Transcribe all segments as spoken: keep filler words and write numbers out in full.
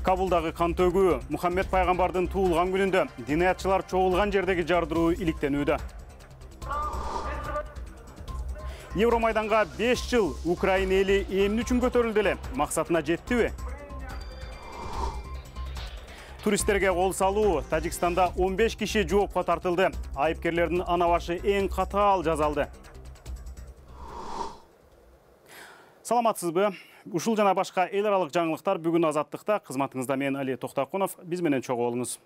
Кабулдагы кан төгүү Мухаммед пайгамбардын туулган күнүндө диниятчылар чогулган жердеги жардыруу иликтенүүдө. Евромайданга беш жыл Украина эли эмне үчүн көтөрүлдү эле? Максатына жеттиби? Туристтерге кол салуу Тажикстанда он беш киши жоопко тартылды. Айыпкерлердин ана башы эң катаал жазалды. Саламатсызбы? Ушул жана башка эл аралык жаңылыктар бүгүн Азаттыкта. Кызматыңызда мен Али Токтакунов. Биз менен чогуу болуңуз.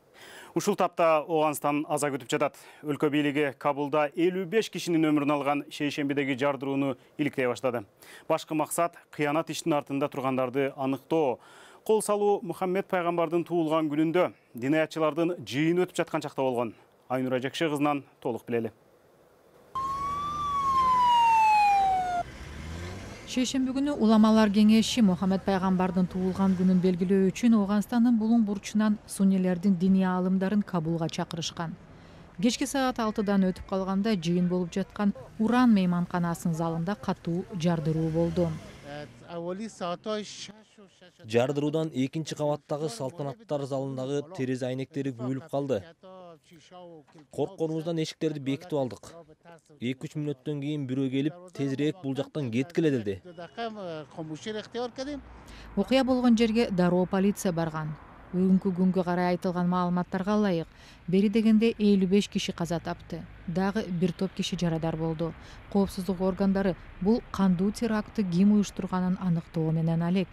Ушул тапта Ооганстан аза күтүп жатат. Өлкө бийлиги Кабулда элүү беш кишинин өмүрүн алган шейшембидеги жардырууну иликтей баштады. Башкы максат кыянат иштин артында тургандарды аныктоо. Кол салуу Мухаммед пайгамбардын туулган күнүндө диниятчылардын жыйыны өтүп жаткан чакта болгон. Айнура Жекше кызынан толук билели. Шейшемби күнү уламалар кеңеши Мухаммед пайгамбардын туулган күнүн белгилөө үчүн Ооганстандын булуң бурчунан суннилердин диний аалымдарын Кабулга чакырышкан. Кечки саат алтыдан өтүп калганда жыйын болуп жаткан Уран мейманканасынын залында катуу жардыруу болду. Жардыруудан экинчи кабаттагы салтанаттар залындагы терезе айнектери күйүлүп калды. Коркконубуздан эшиктерди бекитип алдык. эки үч мүнөттөн кийин бирөө келип, тезирээк бул жактан кеткиле деди. Окуя болгон жерге дароо полиция барган. Бүгүнкү күнгө карай айтылган маалыматтарга ылайык, бери дегенде элүү беш киши каза тапты. Дагы бир топ киши жарадар болду. Коопсуздук органдары бул кандуу терактты ким уюштурганын аныктоо менен алек.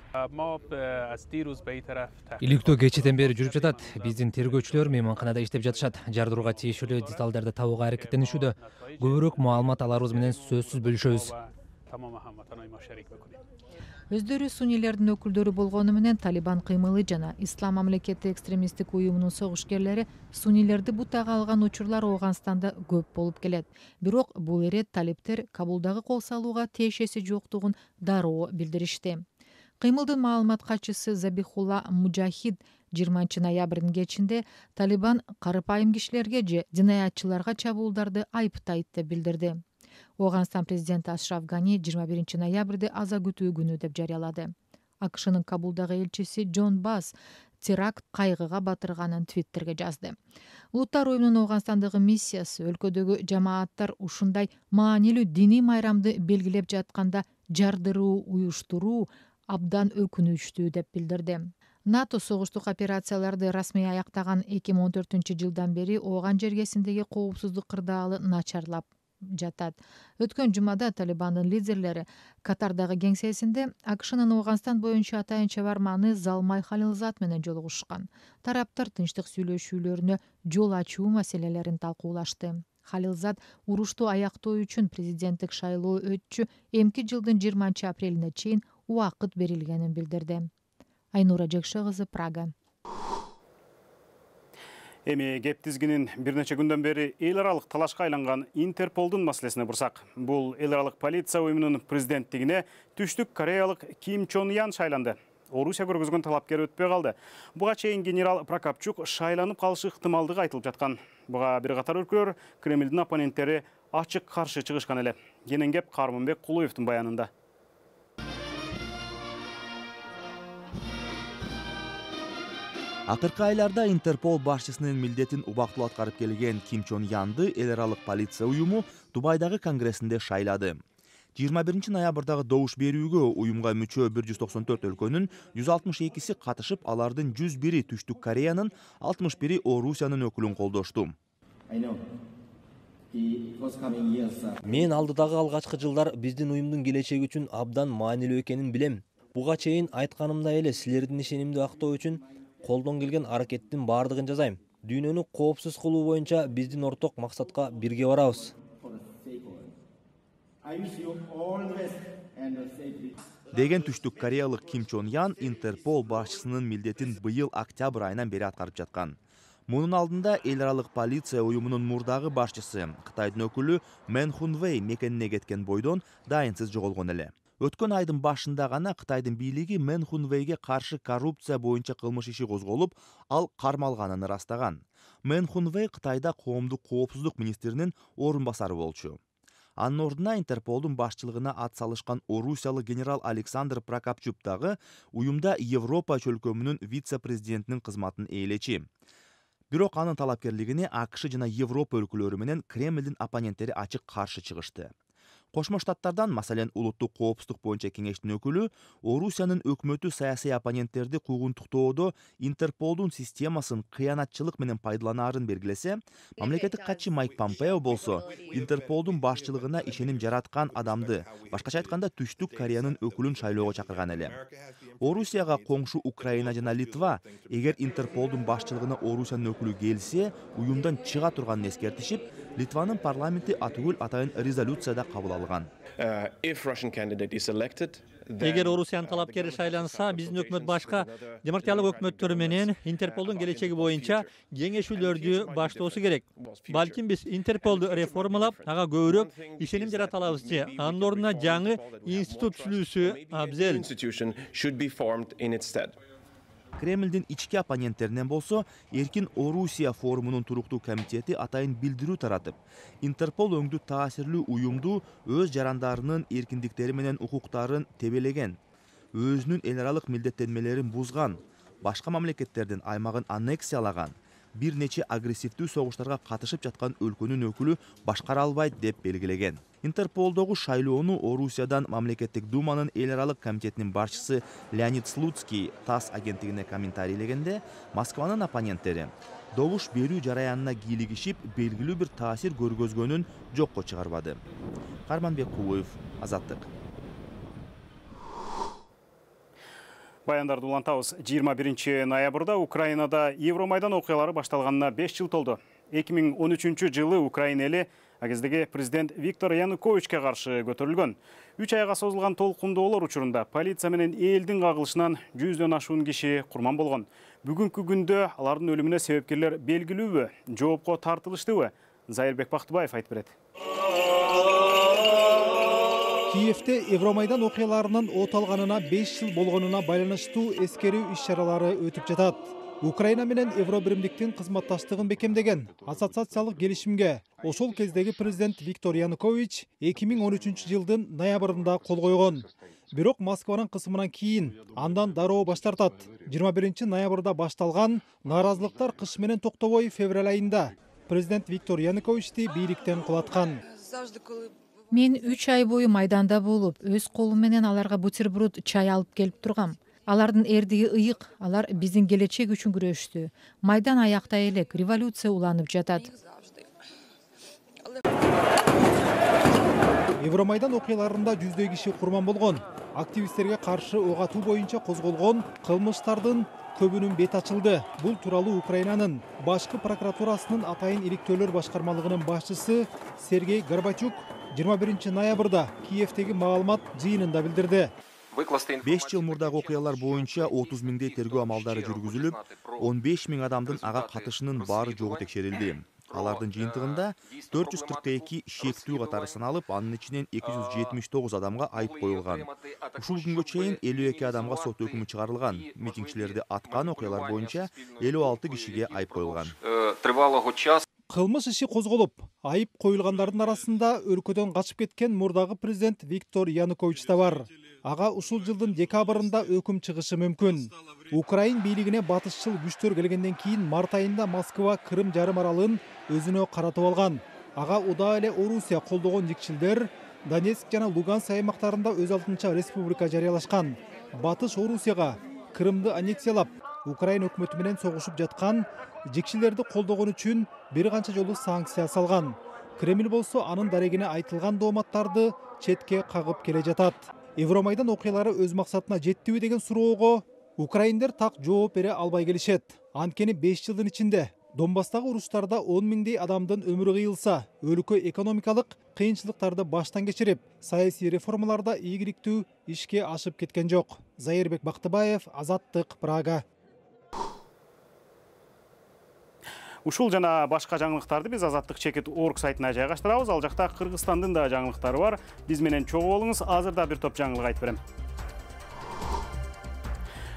Иликтөө кечеден бери жүрүп жатат. Биздин тергөөчүлөр мейманканада иштеп жатышат. Жардырууга тийиштүү деталдарды табууга аракеттенишүүдө. Көбүрөөк маалымат аларыбыз менен сөзсүз бөлүшөбүз. Өздөрү суннилердин өкүлдөрү болгону менен Талибан кыймылы жана Ислам мамлекети экстремисттик уюмунун согушкерлери суннилерди бутага алган учурлар Ооганстанда көп болуп келет. Бирок бул ирет талиптер Кабулдагы кол салууга тиешеси жоктугун дароо билдиришти. Кыймылдын маалымат катчысы Забихулла Мужахид жыйырманчы ноябрдын кечинде Талибан карыпайым кишилерге же динаятчыларга чабуулдарды айыптайт деп билдирди. Ооганстан президенти Ашраф Гани жыйырма биринчи ноябрды аза күтүү күнү деп жарыялады. АКШнын Кабулдагы элчиси Джон Бас теракт кайгыга батырганын Твиттерге жазды. Улуттар уюмунун Ооганстандагы миссиясы өлкөдөгү жамааттар ушундай маанилүү диний майрамды белгилеп жатканда жардыруу уюштуруу абдан өкүнүчтүү деп билдирди. НАТО согуштук операцияларды расмий аяктаган эки миң он төртүнчү жылдан бери Ооган жергесиндеги коопсуздук кырдаалы начарлап жатат. Өткөн жумада Талибандын лидерлери Катардагы кеңсесинде АКШнын Ооганстан боюнча атайын чабарманы Залмай Халилзад менен жолугушкан. Тараптар тынчтык сүйлөшүүлөрүнө жол ачуу маселелерин талкуулашты. Халилзад урушту аяктоо үчүн президенттик шайлоо өтчү эмки жылдын жыйырманчы апрелине чейин убакыт берилгенин билдирди. Айнура Жекше кызы, Прага. Эми кеп тизгинин бир нече күндөн бери эл аралык талашка айланган Интерполдун маселесине бурсак. Бул эл аралык полиция уюмунун президенттигине түштүк кореялык Ким Чон Ян шайланды. Орусия көргөзгөн талапкер өтпөй калды. Буга чейин генерал Прокопчук шайланып калышы ыктымалдыгы айтылып жаткан. Буга бир катар өлкөлөр Кремлдин оппоненттери ачык каршы чыгышкан эле. Кенен Карманбек Кулуевдин баянында. Акыркы айларда Интерпол башчысынын милдетин убактылуу аткарып келген Ким Чон Янды эл аралык полиция уюму Дубайдагы конгрессинде шайлады. жыйырма биринчи ноябрдагы добуш берүүгө уюмга мүчө бир жүз токсон төрт өлкөнүн жүз алтымыш экиси катышып, алардын жүз бири Түштүк Кореянын, алтымыш бири Орусиянын өкүлүн колдошту. Мен алдыдагы алгачкы жылдар биздин уюмдун келечеги үчүн абдан маанилүү экенин билем. Буга чейин айтканымдай эле силердин ишенимди актоо үчүн колдон келген аракеттин баардыгын жасайм. Дүйнөнү коопсуз кылуу боюнча биздин орток максатка бирге барабыз. Деген Түштүк Кореялык Ким Чон Ян Интерпол башчысынын милдетин быйыл октябрь айынан бери аткарып жаткан. Мунун алдында эл аралык полиция уюмунун мурдагы башчысы Кытайдын өкүлү Мэн Хунвей мекенине кеткен бойдон дайынсыз жоголгон эле. Өткөн айдын башында гана Кытайдын бийлиги Мэн Хунвейге каршы коррупция боюнча кылмыш иши козголуп, ал кармалганын ырастаган. Мэн Хунвей Кытайда коомдук коопсуздук министринин орун басары болчу. Анын ордуна Интерполдун башчылыгына ат салышкан орусиялык генерал Александр Прокопчук дагы уюмда Европа чөлкөмүнүн вице-президентинин кызматын ээлечи. Бирок анын талапкерлигине АКШ жана Европа өлкөлөрү менен Кремлдин оппоненттери ачык каршы чыгышты. Кошмо Штаттардан, маселен, улуттук коопсуздук боюнча кеңештин өкүлү Орусиянын өкмөтү саясий оппоненттерди куугунтуктоодо Интерполдун системасын кыянатчылык менен пайдаланаарын белгилесе, мамлекеттик катчы Майк Помпео болсо Интерполдун башчылыгына ишеним жараткан адамды, башкача айтканда Түштүк Кореянын өкүлүн шайлоого чакырган эле. Орусияга коңшу Украина жана Литва эгер Интерполдун башчылыгына Орусиянын өкүлү келсе, уюмдан чыга турганын эскертишип, Литванын парламенти атүгүл атайын резолюцияда кабыл алган. Эгер Орусиянын талапкери шайланса, биздин өкмөт башка демократиялык өкмөттөр менен Интерполдун келечеги боюнча кеңешүүлөрдү баштоосу керек. Балким биз Интерполду реформалап, ага көбүрөөк ишеним жарата алабызчы. Анын ордуна жаңы институт түзүлүүсү абзел. Кремлдин ички оппоненттеринен болсо, Эркин Орусия форумунун туруктуу комитети атайын билдирүү таратып, Интерпол өңдү таасирлүү уюмду өз жарандарынын эркиндиктери менен укуктарын тебелеген, өзүнүн эл аралык милдеттенмелерин бузган, башка мамлекеттердин аймагын аннексиялаган, бир нече агрессивдүү согуштарга катышып жаткан өлкөнүн өкүлү башкара албайт деп белгилеген. Интерполдогу шайлоону Орусиядан мамлекеттик думанын эл аралык комитетинин башчысы Леонид Слуцкий ТАСС агенттигине комментарийлегенде, Москванын оппоненттери добуш берүү жараянына кийлигишип, белгилүү бир таасир көргөзгөнүн жокко чыгарбады. Карманбек Кулуев, Азаттык. Баяндарды улантабыз. жыйырма биринчи ноябрда Украинада Евромайдан окуялары башталганына беш жыл толду. эки миң он үчүнчү жылы Украина эли агездеги президент Виктор Януковичке каршы көтөрүлгөн. үч айга созулган толкундоолор учурунда полиция менен элдин кагылышынан жүздөн ашуун киши курман болгон. Бүгүнкү күндө алардын өлүмүнө себепкерлер белгилүүбү, жоопко тартылыштыбы? Зайырбек Бактыбаев айтып берет. Киевте Евромайдан окуяларынын от алганына беш жыл болгонуна байланыштуу эскерүү иш-чаралары өтүп жатат. Украина менен Евробиримдиктин кызматташтыгын бекемдеген ассоциациялык келишимге ошол кездеги президент Виктор Янукович эки миң он үчүнчү жылдын ноябрында кол койгон. Бирок Москванын кысымынан кийин андан дароо баш тартат. жыйырма биринчи ноябрда башталган нааразылыктар кыш менен токтобой февраль айында президент Виктор Януковичти бийликтен кулаткан. Мен үч ай бою майданда болуп, өз колум менен аларга бутерброд, чай алып келип тургам. Алардын эрдиги ыйык, алар биздин келечек үчүн күрөштү. Майдан аякта элек, революция уланып жатат. Евромайдан окуяларында жүздөй киши курман болгон. Активисттерге каршы ок атуу боюнча козголгон кылмыштардын көбүнүн бет ачылды. Бул тууралуу Украинанын башкы прокуратурасынын атайын иликтөөлөр башкармалыгынын башчысы Сергей Горбачук жыйырма биринчи ноябрда Киевтеги маалымат жыйынында билдирди. беш жыл мурдагы окуялар боюнча отуз миңдей тергөө амалдары жүргүзүлүп, он беш миң адамдын ага катышынын баары жогу текшерилди. Алардын жыйынтыгында төрт жүз кырк эки шектүү катары саналып, анын ичинен эки жүз жетимиш тогуз адамга айып коюлган. Ушул күнгө чейин элүү эки адамга сот өкүмү чыгарылган. Митингчилерди аткан окуялар боюнча элүү алты кишиге айып коюлган. Кылмыш иши козголуп, айып коюлгандардын арасында өлкөдөн качып кеткен мурдагы президент Виктор Янукович да бар. Ага ушул жылдын декабрында өкүм чыгышы мүмкүн. Украин бийлигине батышчыл күчтөр келгенден кийин март айында Москва Крым жарым аралын өзүнө каратып алган. Ага удаа эле Орусия колдогон жикчилдер Донецк жана Луганск аймактарында өз алдынча республика жарыялашкан. Батыш Орусияга Крымды аннексиялап, Украина өкмөтү менен согушуп жаткан жикчилерди колдогон үчүн бир канча жолу санкция салган. Кремль болсо анын дарегине айтылган дооматтарды четке кагып келе жатат. Евромайдан окуялары өз максатына жеттиби деген суроого украиндер так жооп бере албай келишет. Анткени беш жылдын ичинде Донбасстагы уруштарда он миңдей адамдын өмүрү кыйылса, өлкө экономикалык кыйынчылыктарды баштан кечирип, саясий реформаларда ийгиликтүү ишке ашып кеткен жок. Зайырбек Бактыбаев, Азаттык, Прага. Ушул жана башка жаңылыктарды биз Азаттык чекит точка орг сайтына жайгаштырабыз. Ал жакта Кыргызстандын да жаңылыктары бар. Биз менен чогуу болуңуз. Азырда бир топ жаңылык айтып берем.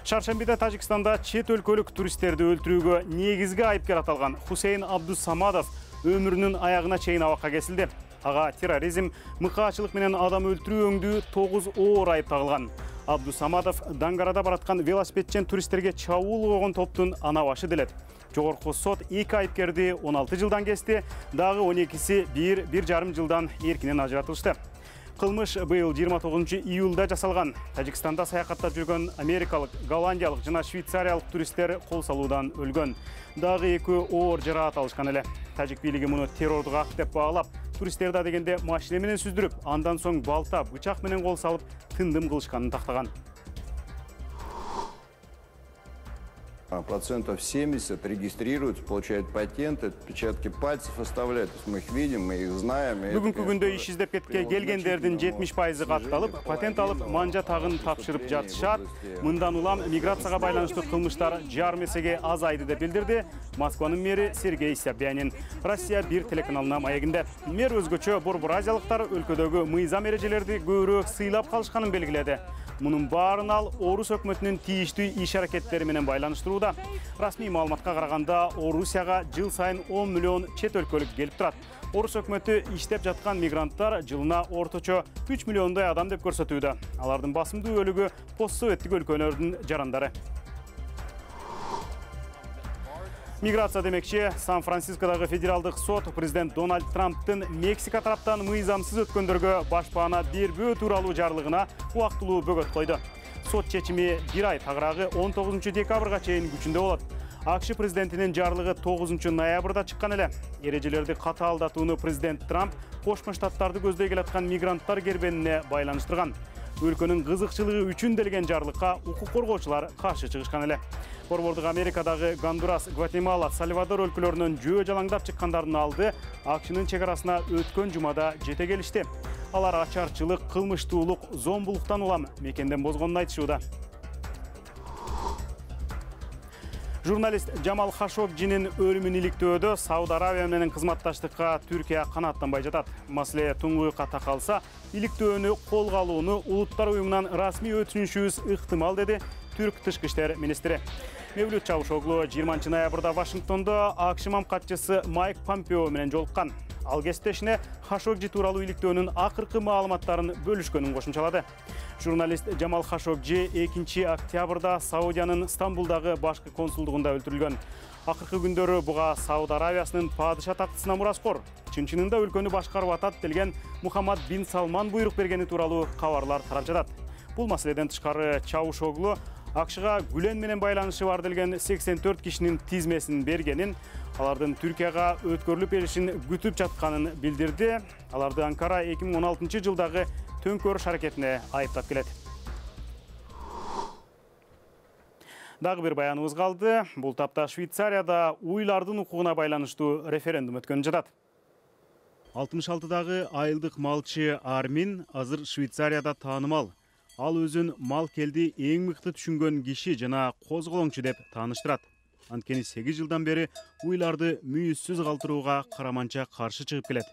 Шаршембиде Тажикстанда чет өлкөлүк туристтерди өлтүрүүгө негизги айыпкер аталган Хусейн Абдусамадов өмүрүнүн аягына чейин абакка кесилди. Ага терроризм, мыкаачылык менен адам өлтүрүү өңдүү тогуз оор айып тагылган. Абдусамадов Дангарада бараткан велосипедчен туристтерге чабуул койгон топтун ана башы делет. Жогорку сот эки айыпкерди он алты жылдан кести, дагы он экиси бир бир жарым жылдан эркинен ажыратылышты. Кылмыш быйыл жыйырма тогузунчу июлда жасалган. Тажикстанда саякаттап жүргөн америкалык, голландиялык жана швейцариялык туристтер кол салуудан өлгөн. Дагы экөө оор жараат алышкан эле. Тажик бийлиги муну террордук акт деп баалап, туристтерди адегенде машина менен сүздүрүп, андан соң балта, бычак менен кол салып, тындым кылышканын тактаган. Процентов семьдесят регистрируются, получают патенты, отпечатки пальцев оставляют. То есть мы их видим, мы их знаем. Бүгүнкү күндө иш издеп кетке келгендердин жетимиш пайызы катталып, патент алып, манжа тагын тапшырып жатышат. Мындан улам миграцияга байланыштуу кылмыштар жарым эсеге азайды деп билдирди Москванын мэри Сергей Собянин. Россия бир телеканалына маегинде. Мэр өзгөчө борбор азиялыктар өлкөдөгү мыйзам эрежелерди көбүрөөк сыйлап калышканын белгиледи. Мунун баарын ал Орус өкмөтүнүн тийиштүү иш аракеттери менен байланыштырууда. Расмий маалыматка караганда, Орусияга жыл сайын он миллион чет өлкөлүк келип турат. Орус өкмөтү иштеп жаткан мигранттар жылына орточо үч миллиондой адам деп көрсөтүүдө. Алардын басымдуу бөлүгү постсоветтик өлкөлөрдүн жарандары. Миграция демекчи, Сан-Францискодагы федералдык сот президент Дональд Трамптын Мексика тараптан мыйзамсыз өткөндөргө башпаана бербөө тууралуу жарлыгына убактылуу бөгөт койду. Сот чечими бир ай, тагыраагы он тогузунчу декабрга чейин күчүндө болот. АКШ президентинин жарлыгы тогузунчу ноябрда чыккан эле. Эрежелерди катаалдатууну президент Трамп Кошмо Штаттарды көздөй келаткан мигранттар кербенине байланыштырган. Өлкөнүн кызыкчылыгы үчүн делген жарлыкка укук коргоочулар каршы чыгышкан эле. Борбордук Америкадагы Гондурас, Гватемала, Сальвадор өлкөлөрүнөн жөө жалаңдап чыккандардын алды АКШнын чегарасына өткөн жумада жете келишти. Алар ачарчылык, кылмыштуулук, зомбулуктан улам мекенден бозгонун айтышууда. Журналист Жамал Хашогжинин өлүмүн иликтөөдө Сауд Арабия менен кызматташтыкка Түркия канааттанбай жатат. Маселе туңгуюкка такалса, иликтөөнү колго алууну Улуттар уюмунан расмий өтүнүшүбүз ыктымал, деди Түрк тышкы иштер министри. Мевлют Чавушоглу жыйырманчы ноябрда Вашингтондо АКШ мамкатчысы Майк Помпео менен жолуккан. Ал кесиптешине Хашогжи тууралуу иликтөөнүн акыркы маалыматтарын бөлүшкөнүн кошумчалады. Журналист Жамал Хашогжи экинчи октябрда Саудиянын Стамбулдагы башкы консулдугунда өлтүрүлгөн. Акыркы күндөрү буга Сауд Арабиясынын падыша тактысына мураскор, чын-чынында өлкөнү башкарып атат делген Мухаммад бин Салман буйрук бергени тууралуу кабарлар тарап жатат. Бул маселеден тышкары Чавушоглу АКШга Гүлен менен байланышы бар делген сексен төрт кишинин тизмесин бергенин, алардын Түркияга өткөрүлүп келишин күтүп жатканын билдирди. Аларды Анкара эки миң он алтынчы жылдагы төңкөрүш аракетине айыптап келет. Дагы бир баяныбыз калды. Бул тапта Швейцарияда уйлардын укугуна байланыштуу референдум өткөнүп жатат. алтымыш алтыдагы айылдык малчы Армин азыр Швейцарияда таанымал. Ал өзүн мал келди эң мыкты түшүнгөн киши жана козголоңчу деп тааныштырат. Анткени сегиз жылдан бери уйларды мүйүзсүз калтырууга караманча каршы чыгып келет.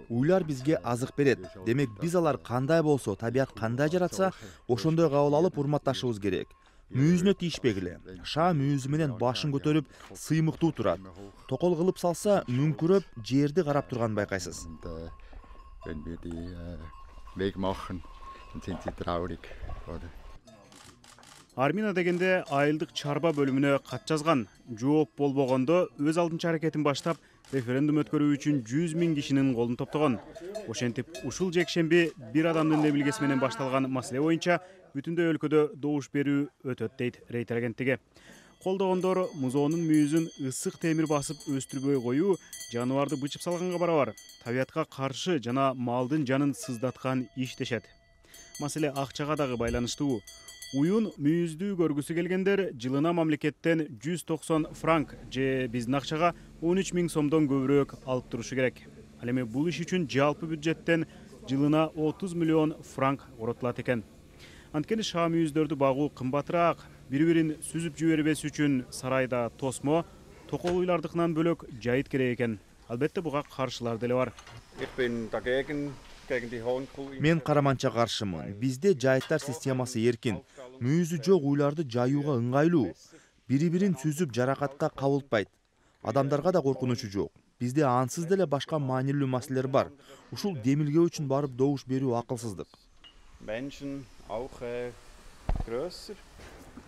Уйлар бизге азык берет. Демек биз алар кандай болсо, табият кандай жаратса, ошондой кабыл алып урматташыбыз керек. Мүйүзүнө тийишпегиле. Ша мүйүзү менен башын көтөрүп, сыймыктуу турат. Токол кылып салса, мүңкүрөп, жерди карап турганын байкайсыз. Wenn wir die äh, Weg machen, dann sind sie traurig, oder? Армина дегенде айылдык чарба бөлүмүнө кат жазган. Жооп болбогондо өз алдынча аракетин баштап, референдум өткөрүү үчүн жүз миң кишинин колун топтогон. Ошентип, ушул жекшемби бир адамдын небилгеси менен башталган маселе боюнча бүтүндөй өлкөдө добуш берүү өтөт, дейт Рейтер агенттиги. Колдогондор музоонун мүйүзүн ысык темир басып өстүрбөй коюу жаныбарды бычып салганга барабар. Табиятка каршы жана малдын жанын сыздаткан иш дешет. Маселе акчага дагы байланыштуу. Уюн мүйүздүү көргүсү келгендер жылына мамлекеттен жүз токсон франк же биздин акчага он үч миң сомдон көбүрөөк алып турушу керек. Ал эми бул иш үчүн жалпы бюджеттен жылына отуз миллион франк коротулат экен. Анткени ша мүйүздөрдү багуу кымбатыраак. Бири-бирин сүзүп жибербес үчүн сарайда тосмо, токол уйлардыкынан бөлөк жайыт керек экен. Албетте буга каршылар деле бар. Мен караманча каршымын. Бизде жайыттар системасы эркин. Мүйүзү жок уйларды жаюуга ыңгайлуу. Бири-бирин сүзүп жаракатка кабылтпайт. Адамдарга да коркунучу жок. Бизде ансыз деле башка маанилүү маселелер бар. Ушул демилгөө үчүн барып добуш берүү акылсыздык.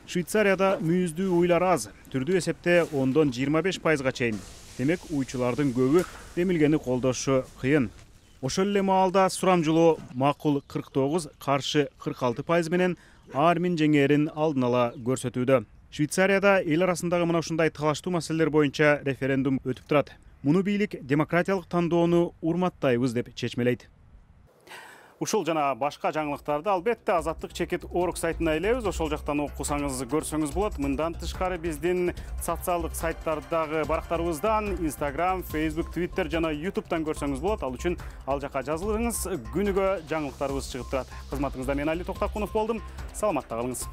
Швейцарияда мүйүздүү уйлар аз, түрдүү эсепте ондон жыйырма беш пайызга чейин. Демек, уйчулардын көбү демилгени колдошу кыйын. Ошол эле маалда сурамжылоо макул кырк тогуз, каршы кырк алты пайыз менен Армин жеңээрин алдын ала көрсөтүүдө. Швейцарияда эл арасындагы мына ушундай талаштуу маселелер боюнча референдум өтүп турат. Муну бийлик демократиялык тандоону урматтайбыз деп чечмелейт. Ушул жана башка жаңылыктарды албетте Азаттык чекит орг сайтына илебиз. Ошол жактан окусаңыз, көрсөңүз болот. Мындан тышкары биздин социалдык сайттардагы барактарыбыздан Instagram, Facebook, Twitter жана YouTube'дан көрсөңүз болот. Ал үчүн ал жака жазылыңыз. Күнүгө жаңылыктарыбыз чыгып турат. Кызматыңызда мен Али Токтакунов болдум. Саламатта калыңыз.